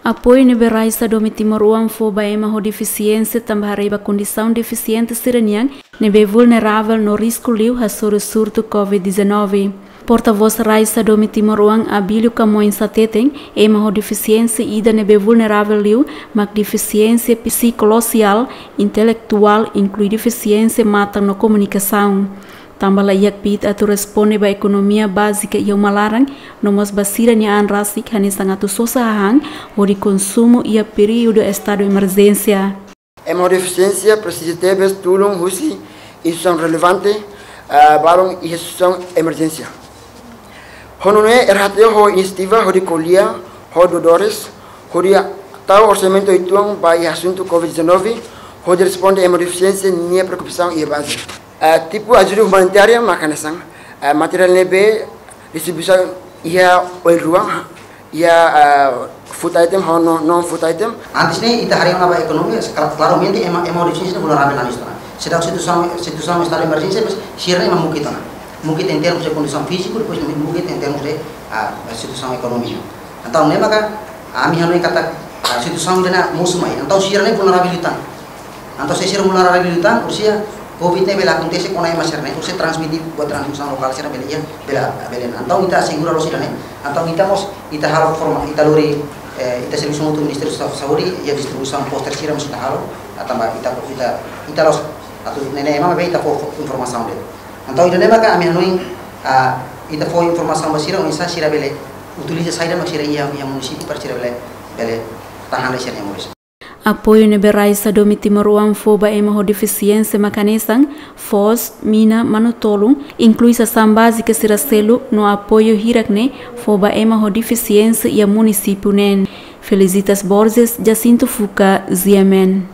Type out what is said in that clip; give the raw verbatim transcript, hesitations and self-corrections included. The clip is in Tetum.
Apoiu ne'ebé rai Sadomi Timor-Oan fó ba ema ho defisiénsia tanba haree ba kondisaun defisiente sira-nian ne'ebé vulneravel no risku liu hasoru surtu covid dezanove. Portavós rai Sadomi Timor-Oan, Abílio Camões, hateten ema ho defisiénsia ida ne'ebé vulneravel liu mak defisiénsia psikososiál, intelektuál, inklui defisiénsia matan no komunikasaun. Tanba laiha kbiit atu responde ba ekonomia bázika iha uma laran, no mós ba sira-nia an rasik hanesan atu sosa hahán hodi konsumu iha períodu estadu emerjénsia. Ema ho defisiénsia presiza tebes tulun husi instituisaun relevante, ah, balun iha situasaun emerjénsia. Ho nune'e R H T O ho inisiativa hodi ko'alia ho doadores, hodi tau orsamentu uitoan ba iha asuntu covid dezanove, hodi responde ema ho defisiénsia nia preokupasaun iha baze. Ah, tipu ajuda umanitária mak hanesan, ah, materiál ne'ebé distribuisaun iha oin rua, iha, ah, food item ho no, non-food item. Antes ne'e ita haree ona ba ekonomia, kla-, klaramente ema, ema ho defisiénsia vulneravel ona isto ona. Seidauk situasaun, situasaun estadu emerjénsia, mas sira-ne'e ema mukit ona. Mukit en termus de kondisaun fíziku, depois mukit en termus de, ah, situasaun ekonomia. Entaun ne'e maka ami hanoin katak, ah, situasaun ida-ne'e mosu mai. Entaun sira-ne'e vulneravel liután. Entaun se sira vulneravel liután, orsida covid ne'e bele akontese kona ema sira-ne'e, orsida transmite buat transmisaun lokál sira bele iha, bele, bele. Entaun ita asegura loos ida-ne'e. Entaun ita mós, ita halo forma, ita lori, eh, ita servisu hamutuk ho Ministériu Sa-, Saúde, iha distribuisaun póster sira mós ita halo, ah, tanba ita, ita, ita loos, atu nune'e ema ne'ebé ita fó, fó informasaun de'it. Entaun ida-ne'e maka ami hanoin, ah, ita fó informasaun ba sira, oinsá sira bele utiliza saida mak sira iha, iha munisípiu para sira bele, bele tahan lai sira-nia moris. Apoiu ne'ebé rai Sadomi Timor-Oan fó ba ema ho defisiénsia mak hanesan foos, mina, manu-tolun, inklui sasán bázika sira seluk no apoiu hirak ne'e fó ba ema ho defisiénsia iha munisípiu neen. Felicitas Borges, Jacinto Fuca, G M N.